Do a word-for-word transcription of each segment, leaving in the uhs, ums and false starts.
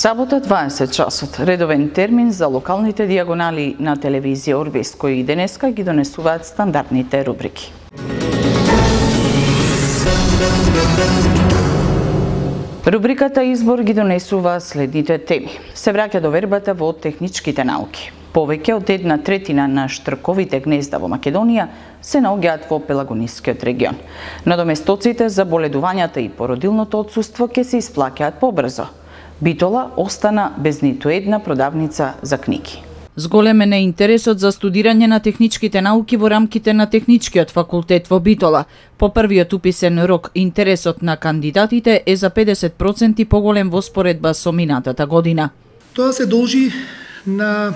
Сабота дваесет часот, редовен термин за локалните дијагонали на телевизија Орбест, кои и денеска ги донесуваат стандардните рубрики. Рубриката Избор ги донесува следните теми. Се враќа до вербата во техничките науки. Повеќе од една третина на штрковите гнезда во Македонија се наоѓаат во Пелагонискиот регион. Надоместоците за боледувањата и породилното отсуство ќе се исплаќаат побрзо. Битола остана без ниту една продавница за книги. Зголемен е интересот за студирање на техничките науки во рамките на Техничкиот факултет во Битола. По првиот уписен рок, интересот на кандидатите е за педесет проценти поголем во споредба со минатата година. Тоа се должи на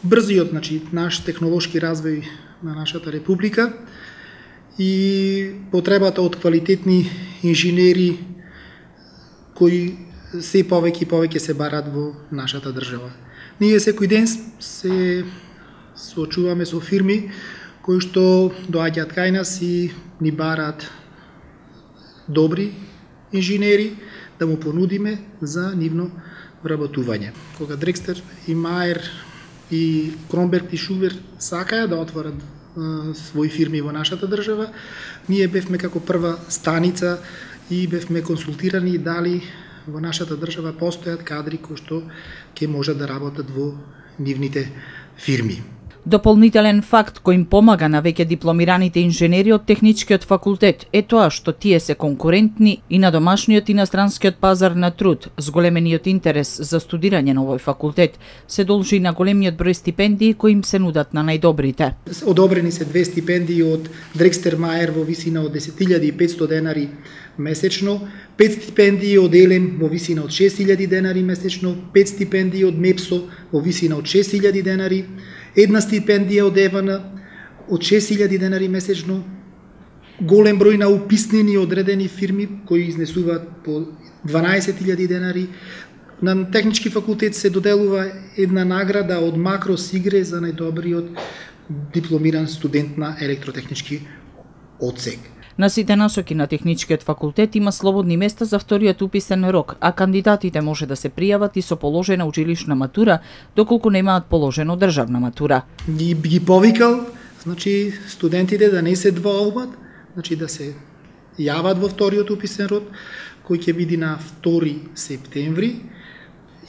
брзиот, значи, наш технолошки развој на нашата република и потребата од квалитетни инженери кои се повеќе и повеќе се барат во нашата држава. Ние секој ден се соочуваме со фирми кои што доаѓаат кај нас и ни бараат добри инженери да му понудиме за нивно вработување. Кога Дрекстер и Маер и Кромберг и Шубер сакаја да отворат е, своји фирми во нашата држава, ние бевме како прва станица и бевме консултирани и дали во нашата држава постојат кадри кои што ќе можат да работат во нивните фирми. Дополнителен факт кој им помага на веќе дипломираните инженери од Техничкиот факултет е тоа што тие се конкурентни и на домашниот и на странскиот пазар на труд. Зголемениот интерес за студирање на овој факултет се должи на големиот број стипендии кои им се нудат на најдобрите. Одобрени се две стипендии од Дрекстер Маер во висина од десет илјади и петстотини денари месечно, пет стипендии од Елем во висина од шест илјади денари месечно, пет стипендии од Мепсо во висина од шест илјади денари, една стипендија од Евана од шест илјади денари месечно, голем број на уписнени одредени фирми кои изнесуваат по дванаесет илјади денари. На Технички факултет се доделува една награда од Макрос Игре за најдобриот дипломиран студент на електротехнички одсек. На сите насоки на Техничкиот факултет има слободни места за вториот уписен рок, а кандидатите може да се пријават и со положена училишна матура, доколку немаат положено државна матура. Ги, ги повикал, значи, студентите да не се двоумат, значи да се јават во вториот уписен род, кој ќе биде на втори септември,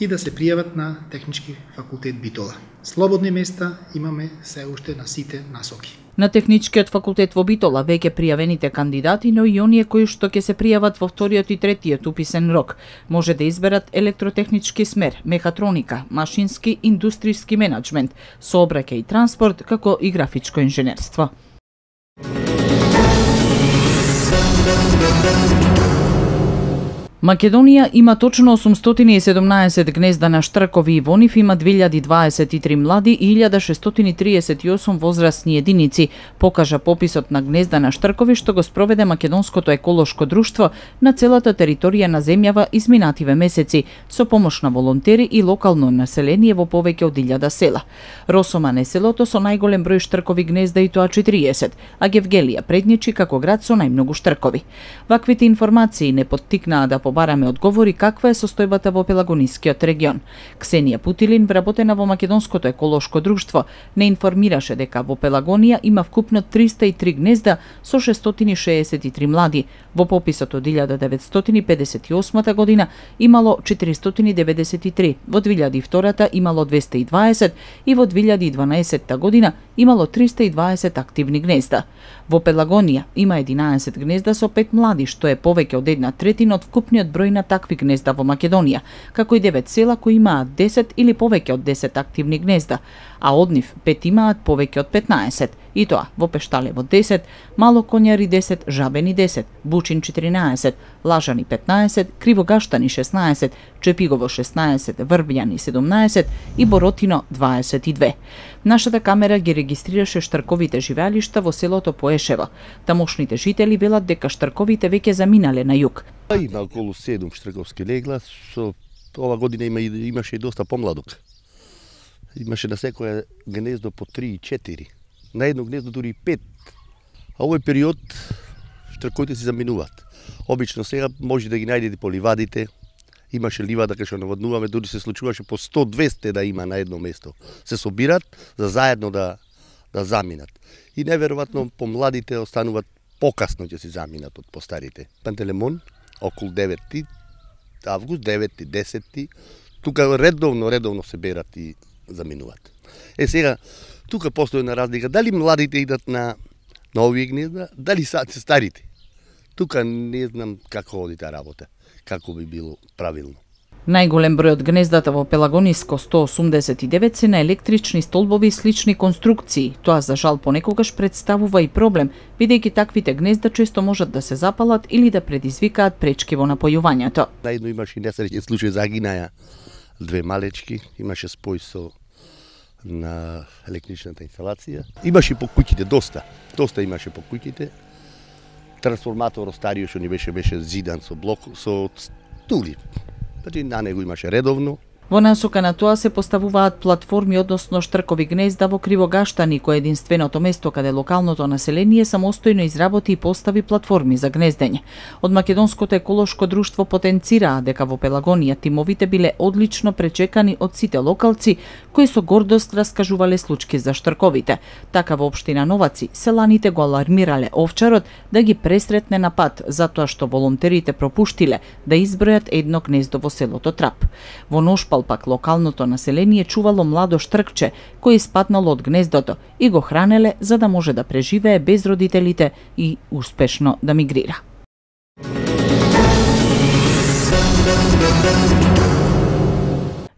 и да се пријават на Технички факултет Битола. Слободни места имаме се уште на сите насоки. На Техничкиот факултет во Битола веќе пријавените кандидати, но и оние кои што ќе се пријават во вториот и третиот уписен рок, може да изберат електротехнички смер, мехатроника, машински, индустријски менаџмент, сообраќај и транспорт, како и графичко инженерство. Македонија има точно осумстотини и седумнаесет гнезда на штркови и во нив има две илјади дваесет и три млади и илјада шестстотини триесет и осум возрастни единици, покажа пописот на гнезда на штркови што го спроведе Македонското еколошко друштво на целата територија на земјава изминативе месеци, со помош на волонтери и локално население во повеќе од илјада села. Росоман е селото со најголем број штркови гнезда и тоа четириесет, а Гевгелија предничи како град со најмногу штркови. Ваквите информации не поттикнаа да побараме одговори каква е состојбата во Пелагонискиот регион. Ксенија Путилин, вработена во Македонското еколошко друштво, не информираше дека во Пелагонија има вкупно триста и три гнезда со шестстотини шеесет и три млади. Во пописот од илјада деветстотини педесет и осма година имало четиристотини деветдесет и три, во две илјади и втора имало двеста и дваесет и во две илјади и дванаесетта година имало триста и дваесет активни гнезда. Во Пелагонија има единаесет гнезда со пет млади, што е повеќе од една третина од вкупниот број на такви гнезда во Македонија, како и девет села кои имаат десет или повеќе од десет активни гнезда, а од нив пет имаат повеќе од петнаесет, и тоа во Пешталево десет, Мало Конјари десет, Жабени десет, Бучин четиринаесет, Лажани петнаесет, Кривогаштани шеснаесет, Чепигово шеснаесет, Врбјани седумнаесет и Боротино дваесет и две. Нашата камера ги регистрираше штрковите живеалишта во селото Поешево. Тамошните жители велат дека штрковите веќе заминале на југ. Има околу седум штрковски легла, со ова година има, имаше и доста помладок. Имаше на секоја гнездо по три и четири. На едно гнездо дури и пет. А овој период штрковите се заминуваат. Обично сега може да ги најдете по ливадите Имаше ливада кај што наводнуваме, дури се случуваше по сто до двесте да има на едно место. Се собират за заедно да да заминат. И неверојатно помладите остануваат покасно ќе си заминат од постарите. Пантелеймон околу деветти август, деветти, десетти, тука редовно, редовно се берат и заминуваат. Е сега, тука постои една разлика, дали младите идат на, на овие гнезда, дали са старите. Тука не знам како оди таа работа, како би било правилно. Најголем број од гнездата во Пелагониско сто осумдесет и девет се на електрични столбови и слични конструкции. Тоа за жал понекогаш представува и проблем, бидејќи таквите гнезда често можат да се запалат или да предизвикаат пречки во напојувањето. Најдно имаше несреќен случај, загинаја две малечки, имаше спој со на електричната инсталација. Имаше по куќите доста, доста имаше по куќите. Трансформатор стариот што ни беше беше зидан со блок со стули. Значи на него имаше редовно. Во насока на тоа се поставуваат платформи, односно штркови гнезда во Кривогаштани, кој е единственото место каде локалното население самостојно изработи и постави платформи за гнездење. Од Македонското еколошко друштво потенцираа дека во Пелагонија тимовите биле одлично пречекани од сите локалци кои со гордост раскажувале случки за штрковите. Така во општина Новаци селаните го алармирале овчарот да ги пресретне на пат затоа што волонтерите пропуштиле да избројат едно гнездо во селото Трап. Во Ношпал пак локалното население чувало младо штркче кој испаднало од гнездото и го хранеле за да може да преживее без родителите и успешно да мигрира.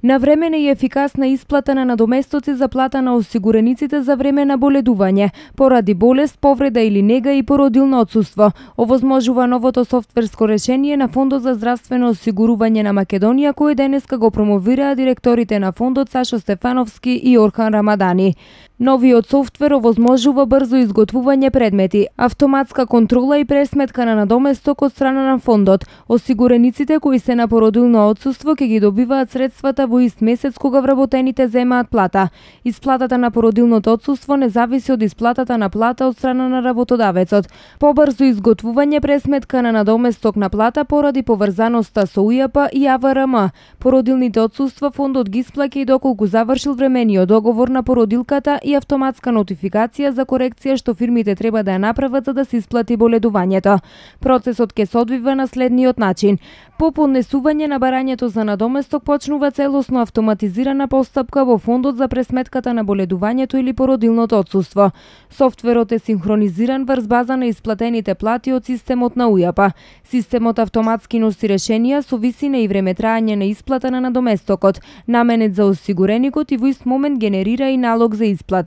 Навремена и ефикасна исплата на надоместоци за плата на осигурениците за време на боледување, поради болест, повреда или нега и породилно отсуство. Овозможува новото софтверско решение на Фондот за здравствено осигурување на Македонија, кој денеска го промовираа директорите на фондот Сашо Стефановски и Орхан Рамадани. Новиот софтвер овозможува брзо изготвување предмети, автоматска контрола и пресметка на надоместок од страна на фондот. Осигурениците кои се на породилно отсуство ќе ги добиваат средствата во ист месец кога вработените земаат плата. Исплатата на породилното отсуство не зависи од исплатата на плата од страна на работодавецот. Побрзо изготвување пресметка на надоместок на плата поради поврзаноста со УЈП и А В Р М. Породилните отсуства фондот ги исплаќа и доколку завршил времениот договор на породилката и автоматска нотификација за корекција што фирмите треба да ја направат за да се исплати боледувањето. Процесот ќе се одвива на следниот начин. По поднесување на барањето за надоместок почнува целосно автоматизирана постапка во фондот за пресметката на боледувањето или породилното отсуство. Софтверот е синхронизиран врз база на исплатените плати од системот на УЈП. Системот автоматски носи решенија со висина и време траење на исплата на надоместокот, наменет за осигуреникот и во ист момент генерира и налог за исплата.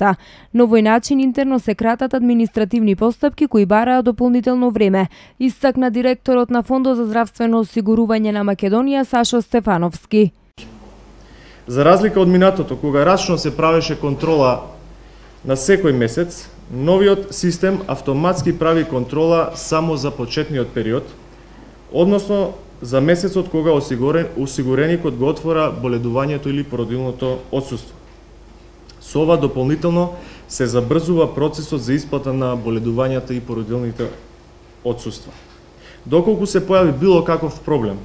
На овој начин интерно се кратат административни постапки кои бараат дополнително време, истакна директорот на Фондот за здравствено осигурување на Македонија Сашо Стефановски. За разлика од минатото, кога рачно се правеше контрола на секој месец, новиот систем автоматски прави контрола само за почетниот период, односно за месецот кога осигурен, осигуреникот го отвора боледувањето или породилното отсуство. Со ова дополнително се забрзува процесот за исплата на боледувањата и породилните отсуства. Доколку се појави било каков проблем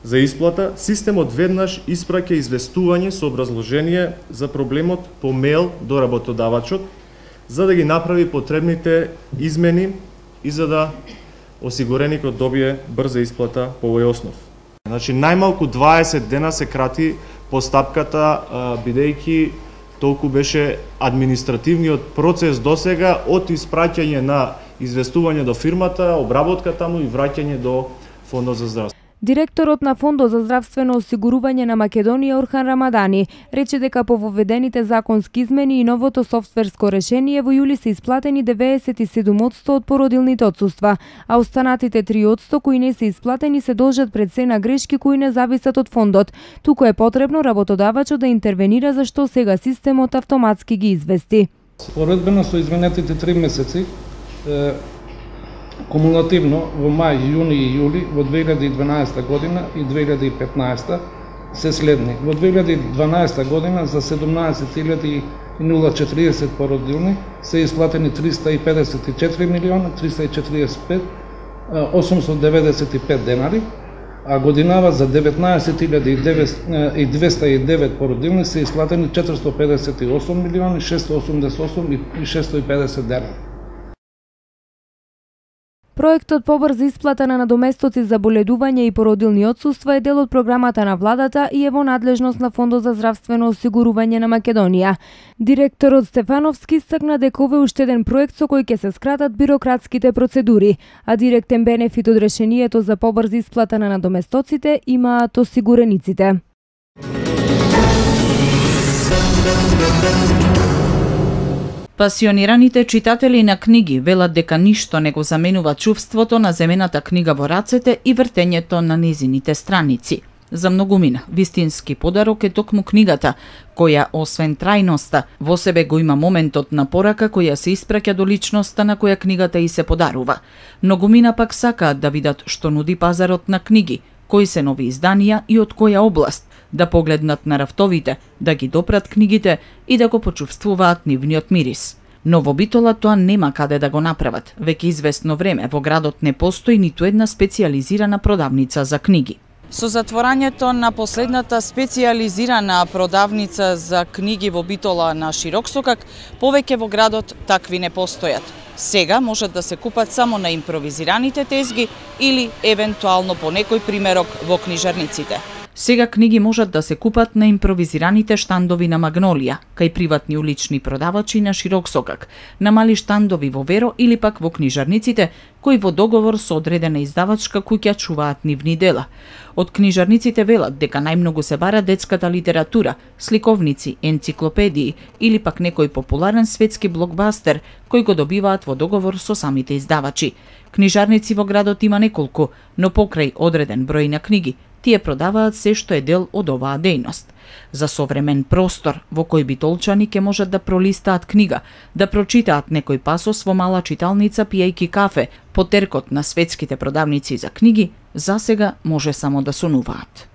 за исплата, системот веднаш испраќа известување со образложение за проблемот по мејл до работодавачот, за да ги направи потребните измени и за да осигуреникот добие брза исплата по овој основ. Значи, најмалку дваесет дена се крати постапката, бидејќи толку беше административниот процес досега од испраќање на известување до фирмата, обработка таму и враќање до Фондот за здравство. Директорот на Фондот за здравствено осигурување на Македонија Орхан Рамадани рече дека по воведените законски измени и новото софтверско решение во јули се исплатени деветдесет и седум одсто од породилните отсуства, а останатите три одсто кои не се исплатени се должат пред се на грешки кои не зависат од фондот. Туку е потребно работодавачот да интервенира зашто сега системот автоматски ги извести. Споредбено со изминатите три месеци, е, кумулативно во мај, јуни и јули во две илјади и дванаесета година и две илјади и петнаесета се следни. Во две илјади и дванаесета година за седумнаесет илјади и четиридесет породилни се исплатени триста и педесет и четири милиона триста и четиридесет и пет осумстотини деветдесет и пет денари, а годинава за деветнаесет илјади и двеста и девет породилни се исплатени четиристотини педесет и осум милиони шестстотини осумдесет и осум и шестстотини и педесет денари. Проектот побрза исплата на надоместоци за боледување и породилни отсуства е дел од програмата на владата и е во надлежност на Фондот за здравствено осигурување на Македонија. Директорот Стефановски истакна дека ова е уште еден проект со кој ќе се скратат бирократските процедури, а директен бенефит од решението за побрза исплата на надоместоците имаат осигурениците. Пасионираните читатели на книги велат дека ништо не го заменува чувството на земената книга во рацете и вртењето на незините страници. За многумина, вистински подарок е токму книгата, која, освен трајноста, во себе го има моментот на порака која се испраќа до личноста на која книгата и се подарува. Многумина пак сакаат да видат што нуди пазарот на книги, кои се нови изданија и од која област, да погледнат на рафтовите, да ги допрат книгите и да го почувствуваат нивниот мирис. Но во Битола тоа нема каде да го направат. Веќе известно време во градот не постои ниту една специјализирана продавница за книги. Со затворањето на последната специјализирана продавница за книги во Битола на Широксокак, повеќе во градот такви не постојат. Сега можат да се купат само на импровизираните тезги или евентуално по некој примерок во книжарниците. Сега книги можат да се купат на импровизираните штандови на Магнолија, кај приватни улични продавачи на Широксокак, на мали штандови во Веро или пак во книжарниците, кои во договор со одредена издавачка куќа чуваат нивни дела. Од книжарниците велат дека најмногу се бара детската литература, сликовници, енциклопедии или пак некој популарен светски блокбастер кој го добиваат во договор со самите издавачи. Книжарници во градот има неколку, но покрај одреден број на книги, тие продаваат се што е дел од оваа дејност. За современ простор во кој битолчани ќе можат да пролистаат книга, да прочитаат некој пасос во мала читалница пијајки кафе, по теркот на светските продавници за книги, засега може само да сонуваат.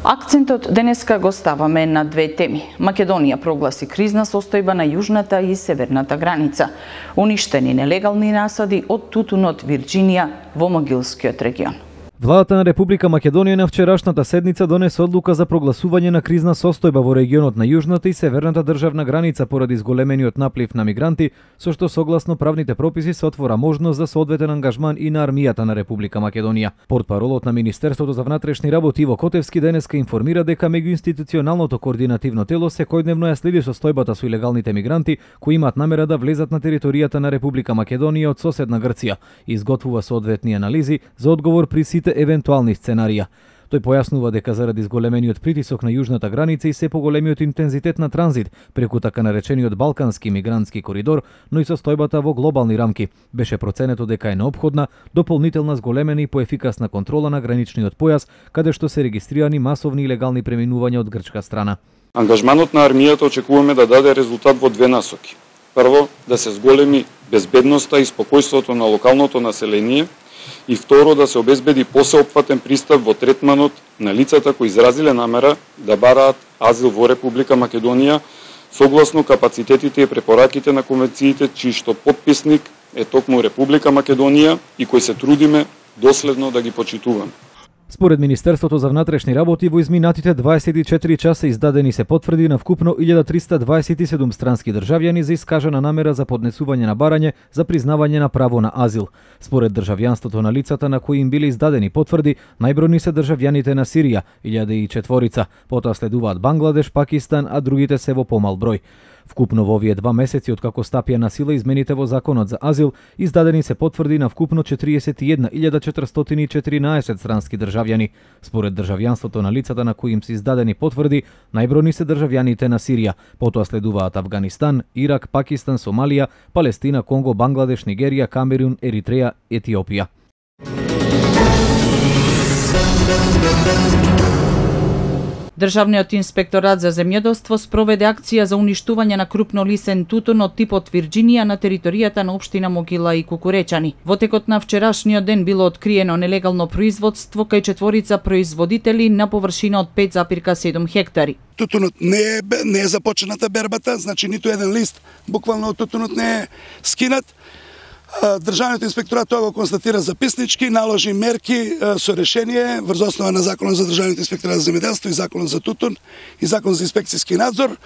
Акцентот денеска го ставаме на две теми. Македонија прогласи кризна состојба на јужната и северната граница. Уништени нелегални насади од тутунот Вирџинија во Могилскиот регион. Владата на Република Македонија на вчерашната седница донесе одлука за прогласување на кризна состојба во регионот на јужната и северната државна граница поради зголемениот наплив на мигранти, со што согласно правните прописи се отвора можност за соодветен ангажман и на армијата на Република Македонија. Портпаролот на Министерството за внатрешни работи Иво Котевски денеска информира дека меѓуинституционалното координативно тело секојдневно ја следи состојбата со илегалните мигранти кои имаат намера да влезат на територијата на Република Македонија од соседна Грција и изготвува соодветни анализи за одговор при сите евентуални сценарија. Тој појаснува дека заради зголемениот притисок на јужната граница и се поголемиот интензитет на транзит преку така наречениот Балкански мигрантски коридор, но и состојбата во глобални рамки, беше проценето дека е неопходна дополнителна зголемена и поефикасна контрола на граничниот појас, каде што се регистрирани масовни илегални преминувања од грчка страна. Ангажманот на армијата очекуваме да даде резултат во две насоки. Прво, да се зголеми безбедноста и спокојството на локалното население, и второ, да се обезбеди посеопфатен пристап во третманот на лицата кои изразиле намера да бараат азил во Република Македонија согласно капацитетите и препораките на конвенциите чиј што потписник е токму Република Македонија и кои се трудиме доследно да ги почитуваме. Според Министерството за внатрешни работи во изминатите дваесет и четири часа издадени се потврди на вкупно илјада триста дваесет и седум странски државјани за искажана намера за поднесување на барање за признавање на право на азил. Според државјанството на лицата на кои им биле издадени потврди, најбројни се државјаните на Сирија, илјада и четворица, потоа следуваат Бангладеш, Пакистан, а другите се во помал број. Вкупно во овие два месеци откако стапија на сила измените во законот за азил, издадени се потврди на вкупно четириесет и една илјада четиристотини и четиринаесет странски државјани. Според државјанството на лицата на кои им се издадени потврди, најбројни се државјаните на Сирија, потоа следуваат Авганистан, Ирак, Пакистан, Сомалија, Палестина, Конго, Бангладеш, Нигерија, Камерун, Еритреја, Етиопија. Државниот инспекторат за земјоделство спроведе акција за уништување на крупнолисен тутун од типот Вирџинија на територијата на општина Могила и Кукуречани. Во текот на вчерашниот ден било откриено нелегално производство кај четворица производители на површина од пет запирка седум хектари. Тутунот не е, не е започната бербата, значи ниту еден лист буквално од тутунот не е скинат. Државниот инспекторат тоа го констатира записнички, наложи мерки со решение врз основа на Законот за Државниот инспекторат за земјоделство и Законот за тутун и Закон за инспекцијски надзор.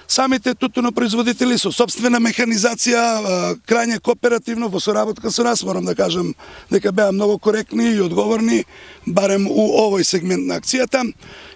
Самите тутунопроизводители со собствена механизација, крајне кооперативно во соработка со нас, морам да кажам дека беа многу коректни и одговорни, барем у овој сегмент на акцијата.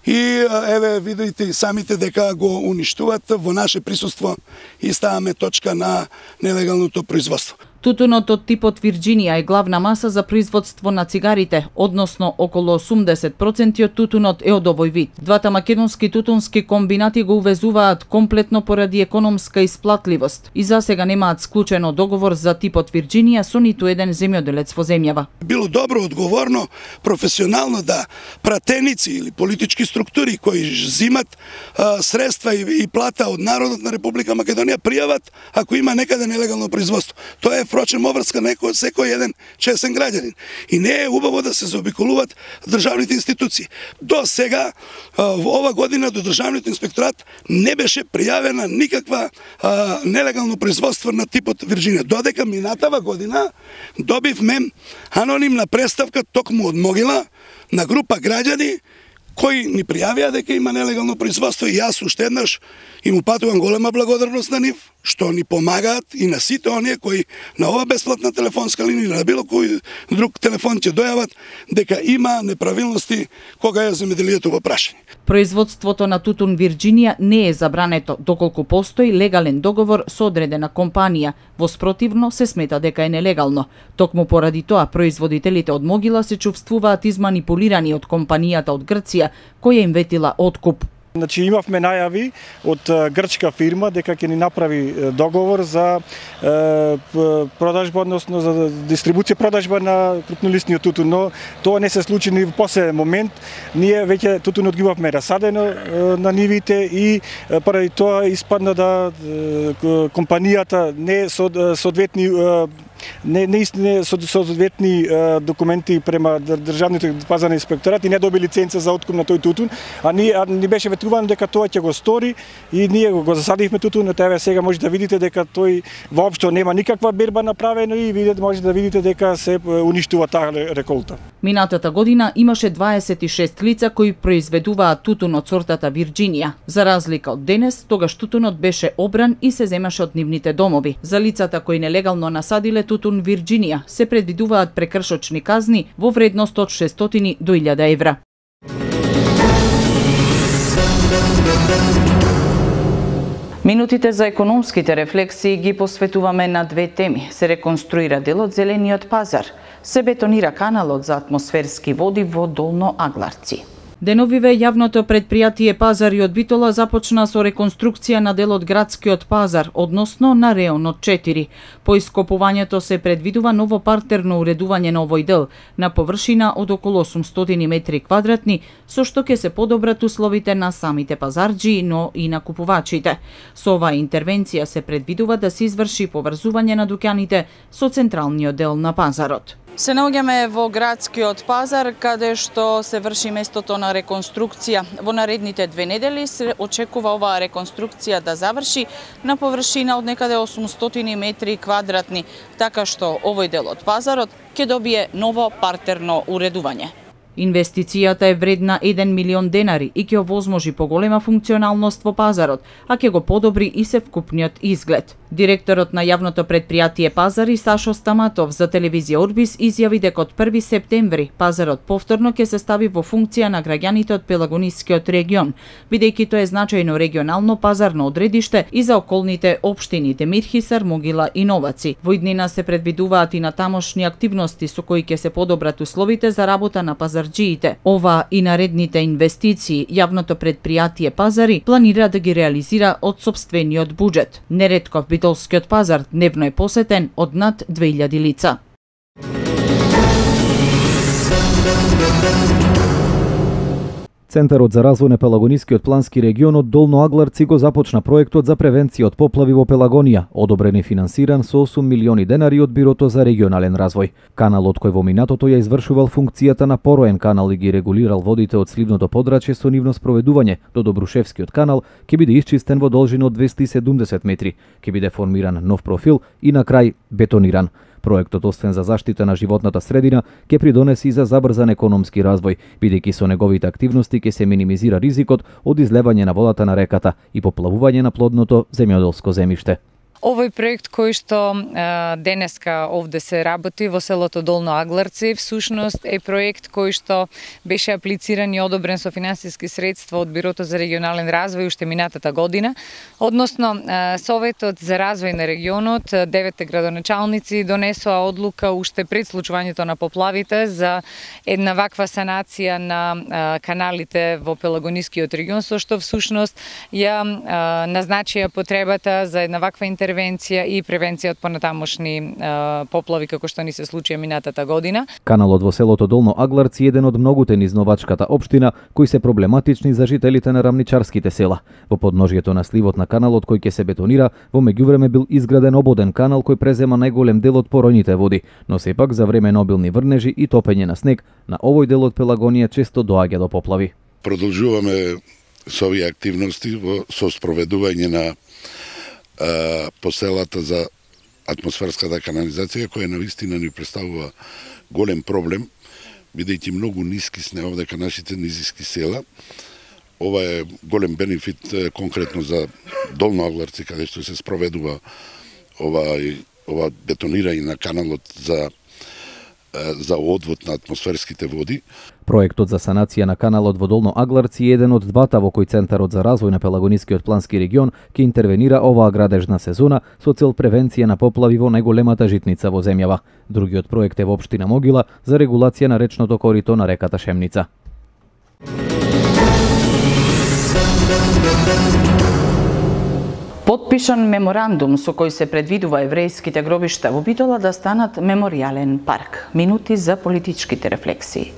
И еве видите и самите дека го уништуват во наше присуство и ставаме точка на нелегалното производство. Тутунот од типот Вирџинија е главна маса за производство на цигарите, односно околу осумдесет проценти од тутунот е од овој вид. Двата македонски тутунски комбинати го увезуваат комплетно поради економска исплатливост и засега немаат склучено договор за типот Вирџинија со ниту еден земјоделец во земјава. Било добро, одговорно, професионално да пратеници или политички структури кои зимат а, средства и, и плата од народот на Република Македонија пријават ако има некаде нелегално производство. Тоа е впрочем обврска некој секој еден чесен граѓанин. И не е убаво да се заобиколуваат државните институции. До сега, во ова година, до Државниот инспекторат не беше пријавена никаква а, нелегално производство на типот Вирџинија. Додека минатава година добивме анонимна представка токму од Могила на група граѓани кои ни пријавија дека има нелегално производство и јас уште еднаш им упатувам голема благодарност на нив, што ни помагаат и на сите оние кои на ова бесплатна телефонска линија или на било кој друг телефон ќе дојават дека има неправилности кога е земјоделието во прашање. Производството на тутун Вирџинија не е забрането доколку постои легален договор со одредена компанија, во спротивно се смета дека е нелегално. Токму поради тоа производителите од Могила се чувствуваат изманипулирани од компанијата од Грција која им ветила откуп. Значи имавме најави од грчка фирма дека ќе ни направи договор за е, продажба, односно за дистрибуција продажба на крупнолистниот тутун, но тоа не се случи ни во последен момент. Ние веќе тутунот ги имавме расадено е, на нивите и е, поради тоа испадна да е, компанијата не со соодветни е, не не не со соодветни документи према државниот пазарен инспекторат и не доби лиценца за откуп на тој тутун, а ни а ни беше ветувано дека тоа ќе го стори и ние го, го засадивме тутунот. Еве сега може да видите дека тој воопшто нема никаква берба направено и видите може да видите дека се уништува таа реколта. Минатата година имаше дваесет и шест лица кои произведуваат тутун од сортата Вирџинија. За разлика од денес, тогаш тутунот беше обран и се земаше од нивните домови. За лицата кои нелегално насадиле тутун Вирџинија се предвидуваат прекршочни казни во вредност од шестстотини до илјада евра. Минутите за економските рефлексии ги посветуваме на две теми. Се реконструира делот Зелениот пазар, се бетонира каналот за атмосферски води во Долно Агларци. Деновиве јавното предпријатие Пазари од Битола започна со реконструкција на дел од градскиот пазар, односно на реонот четири. По ископувањето се предвидува ново партерно уредување на овој дел на површина од околу осумстотини метри квадратни, со што ќе се подобрат условите на самите пазарџи, но и на купувачите. Со оваа интервенција се предвидува да се изврши поврзување на дуќаните со централниот дел на пазарот. Се наоѓаме во градскиот пазар, каде што се врши местото на реконструкција. Во наредните две недели се очекува оваа реконструкција да заврши на површина од некаде осумстотини метри квадратни, така што овој дел од пазарот ќе добие ново партерно уредување. Инвестицијата е вредна еден милион денари и ќе овозможи поголема функционалност во пазарот, а ќе го подобри и севкупниот изглед. Директорот на јавното предпријатие Пазари Сашо Стаматов за телевизија Орбис изјави дека од први септември пазарот повторно ќе се стави во функција на граѓаните од Пелагонискиот регион, бидејќи тоа е значајно регионално пазарно одредиште и за околните општини Демирхисар, Могила и Новаци. Во иднина се предвидуваат и на тамошни активности со кои ќе се подобрат условите за работа на пазарџиите. Ова и наредните инвестиции јавното предпријатие Пазари планира да ги реализира од сопствениот буџет. Неретков Битолскиот пазар дневно е посетен од над две илјади лица. Центарот за развој на Пелагонискиот плански регион од Долно Агларци го започна проектот за превенција од поплави во Пелагонија, одобрен и финансиран со осум милиони денари од Бирото за регионален развој. Каналот кој во минатото ја извршувал функцијата на пороен канал и ги регулирал водите од сливното подрачје со нивно спроведување до Добрушевскиот канал, ќе биде исчистен во должина од двесте и седумдесет метри, ќе биде формиран нов профил и на крај бетониран. Проектот, освен за заштита на животната средина, ќе придонеси и за забрзан економски развој, бидејќи со неговите активности ќе се минимизира ризикот од излевање на водата на реката и поплавување на плодното земјоделско земјиште. Овој проект кој што е, денеска овде се работи во селото Долно Агларци, всушност е проект кој што беше аплициран и одобрен со финансиски средства од Бирото за регионален развој уште минатата година. Односно, е, Советот за развој на регионот, деветте градоначалници донесоа одлука уште пред случувањето на поплавите за една ваква санација на е, каналите во Пелагонискиот регион, со што всушност ја е, назначија потребата за една ваква интервенција интервенција и превенција од понатамошни е, поплави како што ни се случија минатата година. Каналот во селото Долно Агларци е еден од многуте низ Новачката општина кои се проблематични за жителите на рамничарските села. Во подножјето на сливот на каналот кој ќе се бетонира, во меѓувреме бил изграден ободен канал кој презема најголем дел од поројните води, но сепак за време на обилни врнежи и топење на снег, на овој дел од Пелагонија често доаѓа до поплави. Продолжуваме со овие активности во со спроведување на поселата за атмосферската канализација, која навистина ни представува голем проблем, бидејќи многу ниски сме овдека нашите низиски села. Ова е голем бенефит конкретно за Долно Агларци, каде што се спроведува ова, ова бетонирање на каналот за за одвод на атмосферските води. Проектот за санација на каналот во Долно Агларци е еден од двата во кој Центарот за развој на Пелагонискиот плански регион ќе интервенира оваа градежна сезона со цел превенција на поплави во најголемата житница во земјава. Другиот проект е во општина Могила за регулација на речното корито на реката Шемница. Потпишан меморандум со кој се предвидува еврејските гробишта во Битола да станат меморијален парк. Минути за политичките рефлексии.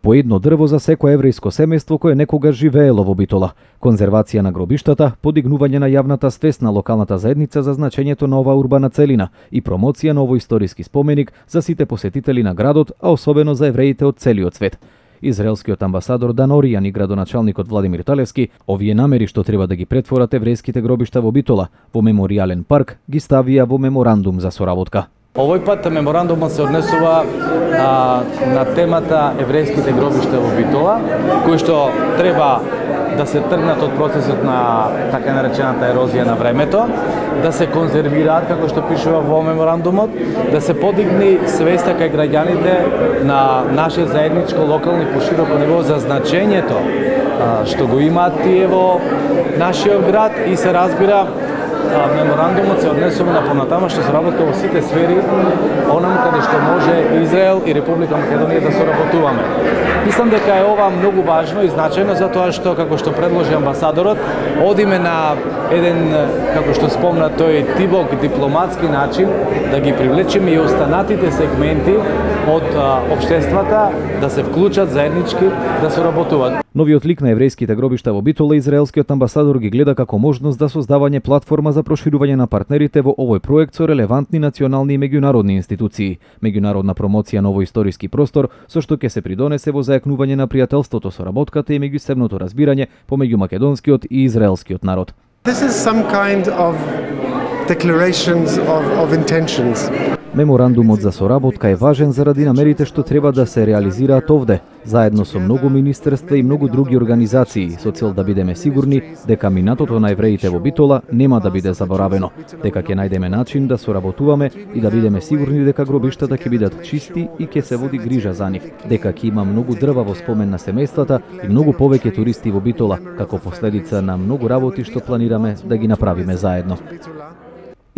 По едно дрво за секое еврејско семејство кое некогаш живеело во Битола. Конзервација на гробиштата, подигнување на јавната свест на локалната заедница за значењето на оваа урбана целина и промоција на овој историски споменик за сите посетители на градот, а особено за евреите од целиот свет. Израелскиот амбасадор Дан Оријан и градоначалникот Владимир Талевски овие намери што треба да ги претворат еврејските гробишта во Битола во меморијален парк ги ставија во меморандум за соработка. Овој пат меморандумот се однесува а, на темата еврејските гробишта во Битола, кои што треба да се тргнат од процесот на така наречената ерозија на времето, да се конзервираат како што пишува во меморандумот, да се подигни свеста кај граѓаните на наше заедничко локално и пошироко ниво за значењето а, што го имаат тие во нашиот град и се разбира меморандумот се однесува на понатамошна соработка во сите сфери, онам каде што може Израел и Република Македонија да соработуваме. Мислам дека е ова многу важно и значајно затоа што, како што предложи амбасадорот, одиме на еден, како што спомна тој, тибок дипломатски начин да ги привлечеме и останатите сегменти од а, општествата да се вклучат заеднички да соработуваат. Новиот лик на еврејските гробишта во Битола израелскиот амбасадор ги гледа како можност за создавање платформа за проширување на партнерите во овој проект со релевантни национални и меѓународни институции, меѓународна промоција на овој историски простор, со што ќе се придонесе во зајакнување на пријателството, соработката и меѓусебното разбирање помеѓу македонскиот и израелскиот народ. This is some kind of declarations of, of intentions. Меморандумот за соработка е важен заради намерите што треба да се реализираат овде, заедно со многу министерства и многу други организации, со цел да бидеме сигурни дека минатото на евреите во Битола нема да биде заборавено, дека ќе најдеме начин да соработуваме и да бидеме сигурни дека гробиштата ќе бидат чисти и ќе се води грижа за нив, дека ќе има многу дрва во спомен на семејствата и многу повеќе туристи во Битола, како последица на многу работи што планираме да ги направиме заедно.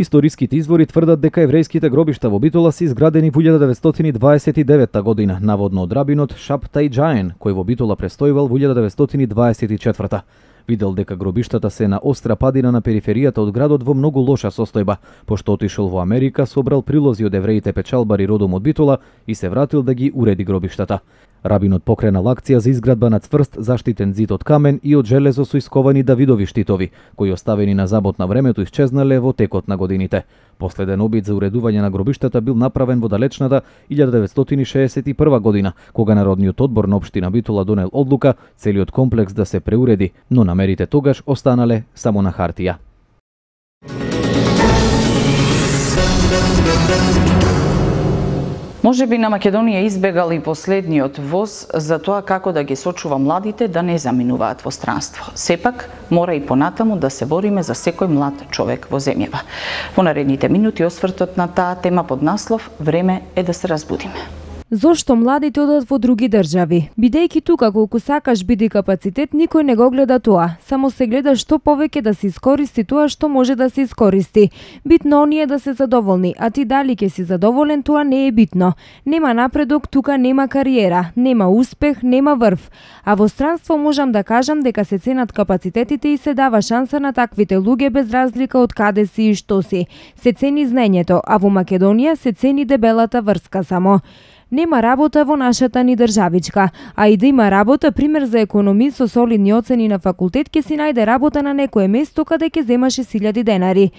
Историските извори тврдат дека еврејските гробишта во Битола се изградени во илјада деветстотини дваесет и девета година, наводно од рабинот Шабтай Џаен, кој во Битола престојувал во илјада деветстотини дваесет и четврта. Видел дека гробиштата се на остра падина на периферијата од градот во многу лоша состојба, пошто отишол во Америка, собрал прилози од евреите печалбари родом од Битола и се вратил да ги уреди гробиштата. Рабинот покренал акција за изградба на цврст заштитен зид од камен и од железо со исковани Давидови штитови, кои оставени на забот на времето исчезнале во текот на годините. Последен обид за уредување на гробиштата бил направен во далечната илјада деветстотини шеесет и прва година, кога Народниот одбор на општина Битола донел одлука целиот комплекс да се преуреди, но намерите тогаш останале само на хартија. Може би на Македонија избегал и последниот воз за тоа како да ги сочува младите да не заминуваат во странство. Сепак, мора и понатаму да се бориме за секој млад човек во земјава. Во наредните минути освртот на таа тема под наслов "Време е да се разбудиме". Зошто младите одат во други држави? Бидејќи тука колку сакаш биди капацитет, никој не го гледа тоа. Само се гледа што повеќе да се искористи тоа што може да се искористи. Битно оние да се задоволни, а ти дали ќе си задоволен, тоа не е битно. Нема напредок, тука нема кариера, нема успех, нема врв. А во странство можам да кажам дека се ценат капацитетите и се дава шанса на таквите луѓе без разлика од каде си и што си. Се цени знаењето, а во Македонија се цени дебелата врска само. Нема работа во нашата ни државичка, а и да има работа, пример за економист со солидни оцени на факултет ќе си најде работа на некое место каде ќе земаше илјади денари.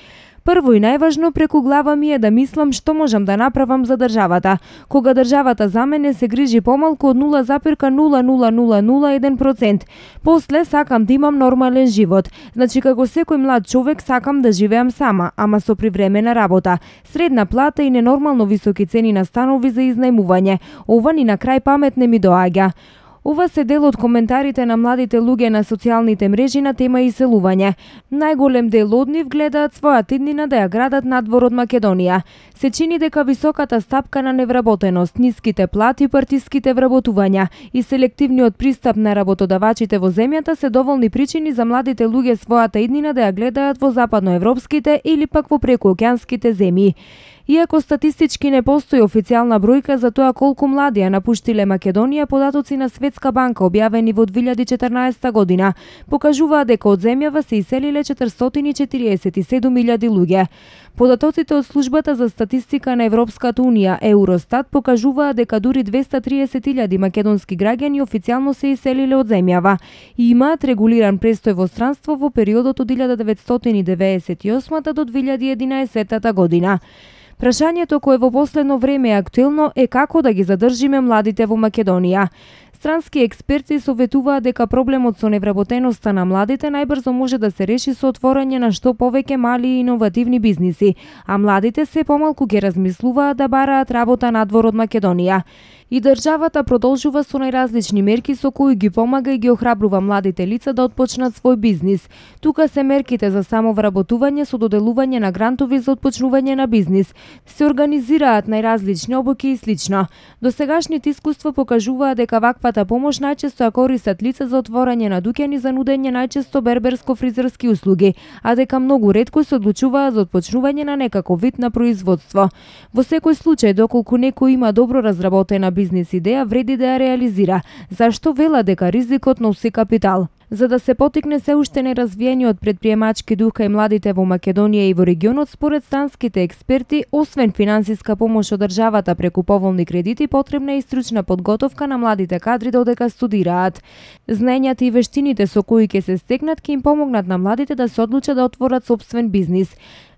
Прво и најважно преку глава ми е да мислам што можам да направам за државата. Кога државата за мене се грижи помалку од нула запирка нула нула нула нула еден процент. После сакам да имам нормален живот. Значи како секој млад човек сакам да живеам сама, ама со привремена работа. Средна плата и ненормално високи цени на станови за изнајмување. Ова ни на крај памет не ми доаѓа. Ова се дел од коментарите на младите луѓе на социјалните мрежи на тема иселување. Најголем дел од нив гледаат својата иднина да ја градат надвор од Македонија. Се чини дека високата стапка на невработеност, ниските плати, партиските вработувања и селективниот пристап на работодавачите во земјата се доволни причини за младите луѓе својата иднина да ја гледаат во западноевропските или пак во прекуокеанските земји. Иако статистички не постои официјална бројка за тоа колку млади ја напуштиле Македонија, податоци на Светска банка објавени во две илјади и четрнаесетта година покажуваат дека од земјава се иселиле четиристотини и четириесет и седум илјади луѓе. Податоците од службата за статистика на Европската унија Евростат покажуваат дека дури двеста триесет илјади македонски граѓани официјално се иселиле од земјава и имаат регулиран престој во странство во периодот од илјада деветстотини девеесет и осма до две илјади и единаесетта година. Прашањето кое во последно време е актуелно е како да ги задржиме младите во Македонија. Странски експерти советуваат дека проблемот со невработеноста на младите најбрзо може да се реши со отворање на што повеќе мали и иновативни бизниси, а младите се помалку ќе размислуваат да бараат работа надвор од Македонија. И државата продолжува со најразлични мерки со кои ги помага и ги охрабрува младите лица да отпочнат свој бизнис. Тука се мерките за самовработување со доделување на грантови за отпочнување на бизнис. Се организираат најразлични обуки и слично. Досегашните искуства покажуваат дека ваквата помош најчесто ја користат лица за отворање на дуќани за нудење најчесто берберско-фризерски услуги, а дека многу ретко се одлучуваат за отпочнување на некаков вид на производство. Во секој случај, доколку некој има добро разработена бизнис идеја, вреди да ја реализира. Зашто вела дека ризикот носи капитал? За да се потикне се уште неразвиениот предприемачки дух кај младите во Македонија и во регионот, според странските експерти, освен финансиска помош од државата преку поволни кредити, потребна е и стручна подготовка на младите кадри додека студираат. Знаењата и вештините со кои ќе се стекнат ќе им помогнат на младите да се одлучат да отворат сопствен бизнис.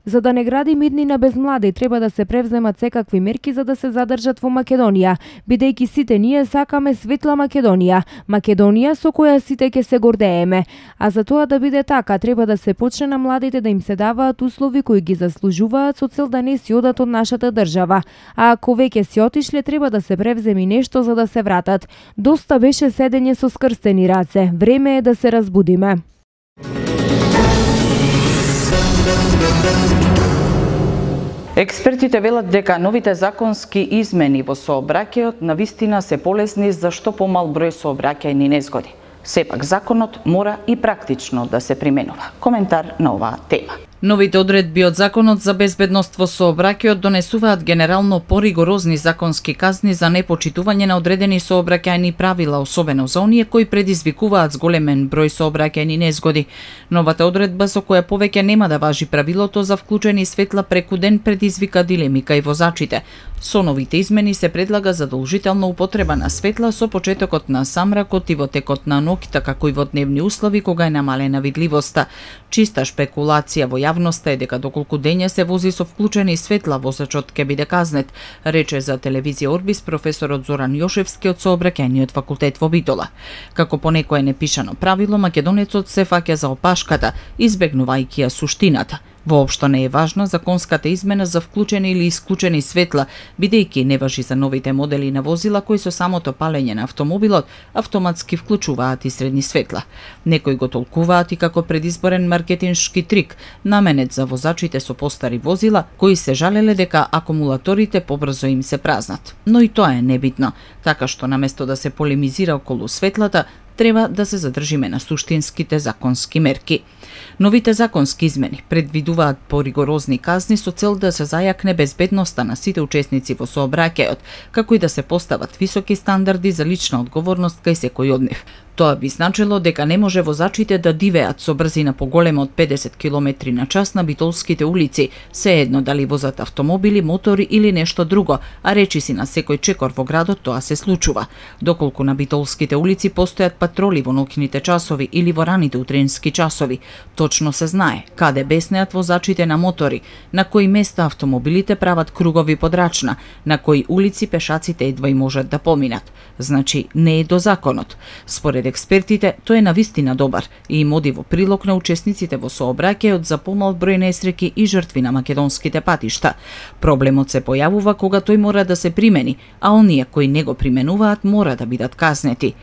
За да не гради иднина без млади, треба да се превземат секакви мерки за да се задржат во Македонија, бидејќи сите ние сакаме светла Македонија, Македонија со која сите ќе се гордееме. А за тоа да биде така, треба да се почне на младите да им се даваат услови кои ги заслужуваат со цел да не си одат од нашата држава. А ако веќе си отишле, треба да се превземи нешто за да се вратат. Доста беше седење со скрстени раце. Време е да се разбудиме. Експертите велат дека новите законски измени во сообраќајот навистина се полесни за што помал број сообраќајни незгоди. Сепак законот мора и практично да се применува. Коментар на оваа тема. Новите одредби од Законот за безбедност во сообраќајот донесуваат генерално поригорозни законски казни за непочитување на одредени сообраќајни правила, особено за оние кои предизвикуваат зголемен број сообраќајни незгоди. Новата одредба со која повеќе нема да важи правилото за вклучени светла преку ден предизвика дилеми кај возачите. Со новите измени се предлага задолжителна употреба на светла со почетокот на самракот и во текот на ноќта, како и во дневни услови кога е намалена видливоста. Чиста шпекулација во јавноста е дека доколку дење се вози со вклучени светла, возачот ќе биде казнет, рече за телевизија Орбис професорот Зоран Јошевски од Сообраќајниот факултет во Битола. Како по некое непишано правило, македонецот се фаќа за опашката, избегнувајќи ја суштината. Воопшто не е важна законската измена за вклучени или исклучени светла, бидејќи не важи за новите модели на возила кои со самото палење на автомобилот автоматски вклучуваат и средни светла. Некои го толкуваат и како предизборен маркетиншки трик, наменет за возачите со постари возила кои се жалеле дека акумулаторите побрзо им се празнат. Но и тоа е небитно, така што наместо да се полемизира околу светлата, треба да се задржиме на суштинските законски мерки. Новите законски измени предвидуваат поригорозни казни со цел да се зајакне безбедноста на сите учесници во сообраќајот, како и да се постават високи стандарди за лична одговорност кај секој од нив. Тоа би значило дека не може возачите да дивеат со брзина поголема од педесет километри на час на битолските улици, се едно дали возат автомобили, мотори или нешто друго, а речиси на секој чекор во градот тоа се случува. Доколку на битолските улици постојат патроли во ноќните часови или во раните утренски часови, точно се знае каде беснеат возачите на мотори, на кои места автомобилите прават кругови подрачна, на кои улици пешаците едва и можат да поминат. Значи, не е до законот. Според експертите, тој е навистина добар и им оди во прилог на учесниците во сообраќајот за помал број несреќи и жртви на македонските патишта. Проблемот се појавува кога тој мора да се примени, а оние кои не го применуваат мора да бидат казнети.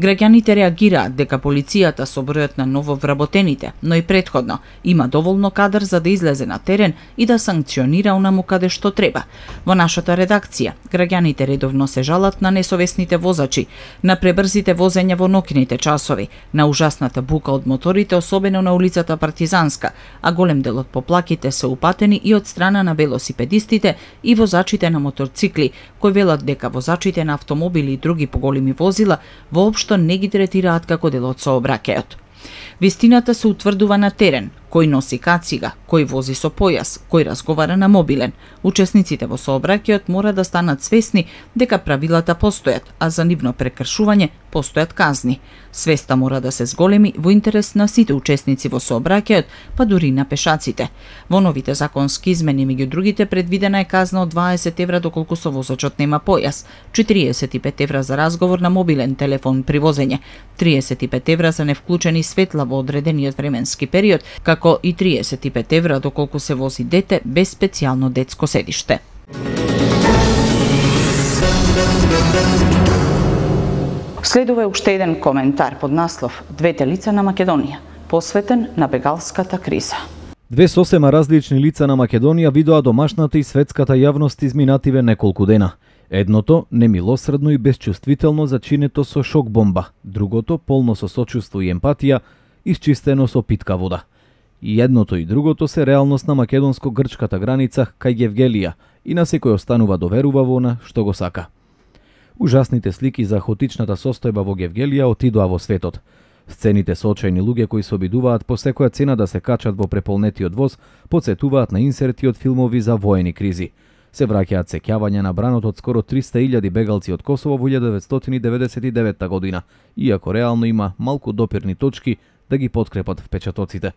Граѓаните реагираат дека полицијата со бројот на нововработените, но и претходно има доволно кадар за да излезе на терен и да санкционира онаму каде што треба. Во нашата редакција, граѓаните редовно се жалат на несовесните возачи, на пребрзите возења во ноќните часови, на ужасната бука од моторите, особено на улицата Партизанска, а голем дел од поплаките се упатени и од страна на велосипедистите и возачите на моторцикли, кои велат дека возачите на автомобили и други поголеми возила воопшто не ги третираат како дел од сообраќајот. Вистината се утврдува на терен, кој носи кацига, кој вози со појас, кој разговара на мобилен. Учесниците во сообраќајот мора да станат свесни дека правилата постојат, а за нивно прекршување постојат казни. Свеста мора да се зголеми во интерес на сите учесници во сообраќајот, па дури на пешаците. Во новите законски измени меѓу другите предвидена е казна од дваесет евра доколку со возачот нема појас, четириесет и пет евра за разговор на мобилен телефон при возење, триесет и пет евра за невклучени светла во одредениот временски период, како и триесет и пет евра доколку се вози дете без специјално детско седиште. Следува уште еден коментар под наслов "Двете лица на Македонија", посветен на бегалската криза. Две сосема различни лица на Македонија видоа домашната и светската јавност изминативе неколку дена. Едното немилосредно и безчувствително зачинето со шок бомба, другото полно со сочувство и емпатија, исчистено со питка вода. И едното и другото се реалност на македонско-грчката граница кај Гевгелија и на секој останува да верува во она што го сака. Ужасните слики за хаотичната состојба во Гевгелија отидоа во светот. Сцените со очајни луѓе кои се обидуваат по секоја цена да се качат во преполнетиот воз, потсетуваат на инсерти од филмови за воени кризи. Се враќаат сеќавања на бранот од скоро триста илјади бегалци од Косово во илјада деветстотини деветдесет и девета година, иако реално има малку допирни точки да ги подкрепат впечатоците.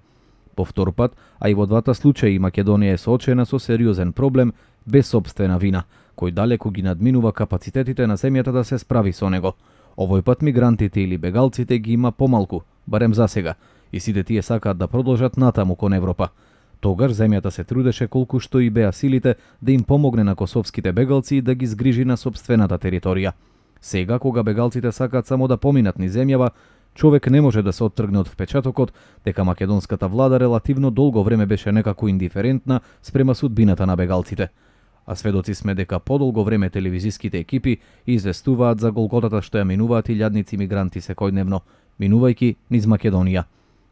По втор пат, а и во двата случаи Македонија е соочена со сериозен проблем без собствена вина, кој далеку ги надминува капацитетите на земјата да се справи со него. Овој пат мигрантите или бегалците ги има помалку, барем за сега, и сите тие сакаат да продолжат натаму кон Европа. Тогаш земјата се трудеше колку што и беа силите да им помогне на косовските бегалци да ги згрижи на собствената територија. Сега, кога бегалците сакаат само да поминат низ земјава, човек не може да се оттргне од впечатокот дека македонската влада релативно долго време беше некако индиферентна спрема судбината на бегалците. А сведоци сме дека подолго време телевизиските екипи известуваат за голготата што ја минуваат илјадници мигранти секојдневно, минувајќи низ Македонија.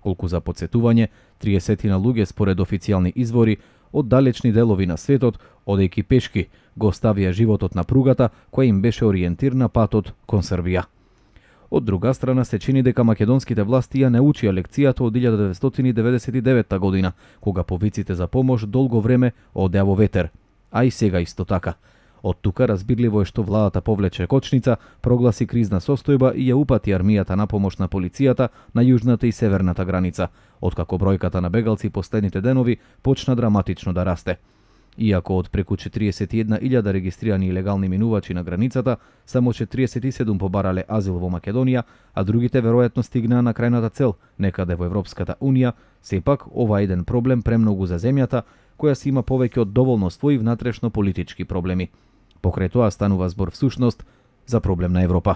Колку за потсетување, триесетина луѓе според официјални извори од далечни делови на светот, одејќи пешки, го оставија животот на пругата која им беше ориентир на патот кон Србија. Од друга страна се чини дека македонските власти ја научија лекцијата од илјада деветстотини деветдесет и девета година, кога повиците за помош долго време одеа во ветер, а и сега исто така. Од тука разбирливо е што владата повлече кочница, прогласи кризна состојба и ја упати армијата на помош на полицијата на јужната и северната граница, откако бројката на бегалци последните денови почна драматично да расте. Иако од преку четириесет и една илјада регистрирани илегални минувачи на границата, само четириесет и седум побарале азил во Македонија, а другите веројатно стигнаа на крајната цел, некаде во Европската Унија, сепак ова е еден проблем премногу за земјата, која си има повеќе од доволно своји внатрешно политички проблеми. Покрај тоа станува збор всушност за проблем на Европа.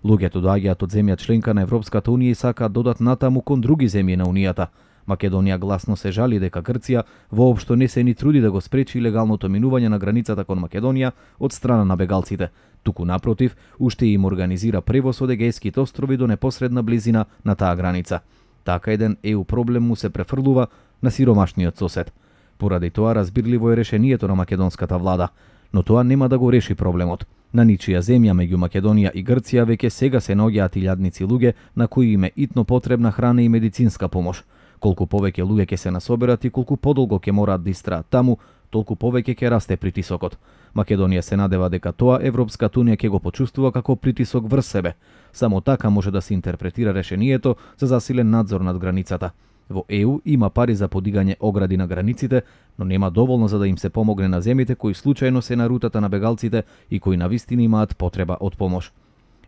Луѓето доаѓаат од земја членка на Европската Унија и сакаат додат натаму кон други земји на Унијата. Македонија гласно се жали дека Грција воопшто не се ни труди да го спречи илегалното минување на границата кон Македонија од страна на бегалците. Туку напротив, уште им организира превоз од Егејските острови до непосредна близина на таа граница. Така еден е ю проблем му се префрлува на сиромашниот сосед. Поради тоа разбирливо е решението на македонската влада, но тоа нема да го реши проблемот. На ничија земја меѓу Македонија и Грција веќе сега се наоѓаат илјадници луѓе на кои им е итно потребна храна и медицинска помош. Колку повеќе луѓе ќе се насоберат и колку подолго ќе мораат да истраат таму, толку повеќе ќе расте притисокот. Македонија се надева дека тоа Европската Унија ќе го почувствува како притисок врз себе. Само така може да се интерпретира решението за засилен надзор над границата. Во Е У има пари за подигање огради на границите, но нема доволно за да им се помогне на земјите кои случајно се на рутата на бегалците и кои навистина имаат потреба од помош.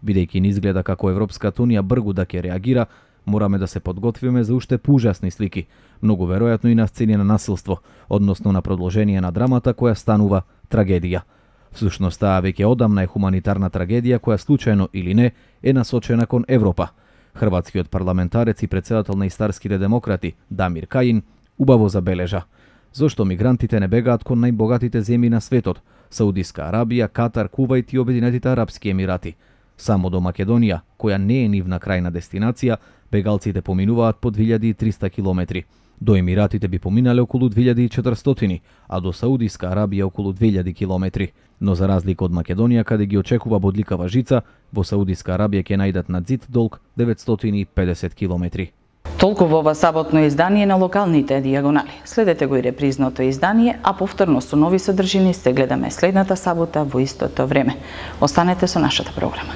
Бидејќи ни изгледа како Европската Унија бргу да ќе реагира, мораме да се подготвиме за уште поужасни слики, многу веројатно и на сцени на насилство, односно на продолжение на драмата која станува трагедија. Всушност таа веќе одамна е хуманитарна трагедија која случајно или не е насочена кон Европа. Хрватскиот парламентарец и председател на Истарските демократи Дамир Кајин убаво забележа: зошто мигрантите не бегаат кон најбогатите земји на светот, Саудиска Арабија, Катар, Кувајт и Обединетите арапски емирати. Само до Македонија, која не е нивна крајна дестинација, бегалците поминуваат по две илјади и триста километри. До Емиратите би поминале околу две илјади и четиристотини, а до Саудиска Арабија околу две илјади километри. Но за разлика од Македонија, каде ги очекува бодликава жица, во Саудиска Арабија ќе најдат над зид долг деветстотини и педесет километри. Толку во ова саботно издание на локалните дијагонали. Следете го и репризното издание, а повторно со нови содржини се гледаме следната сабота во истото време. Останете со нашата програма.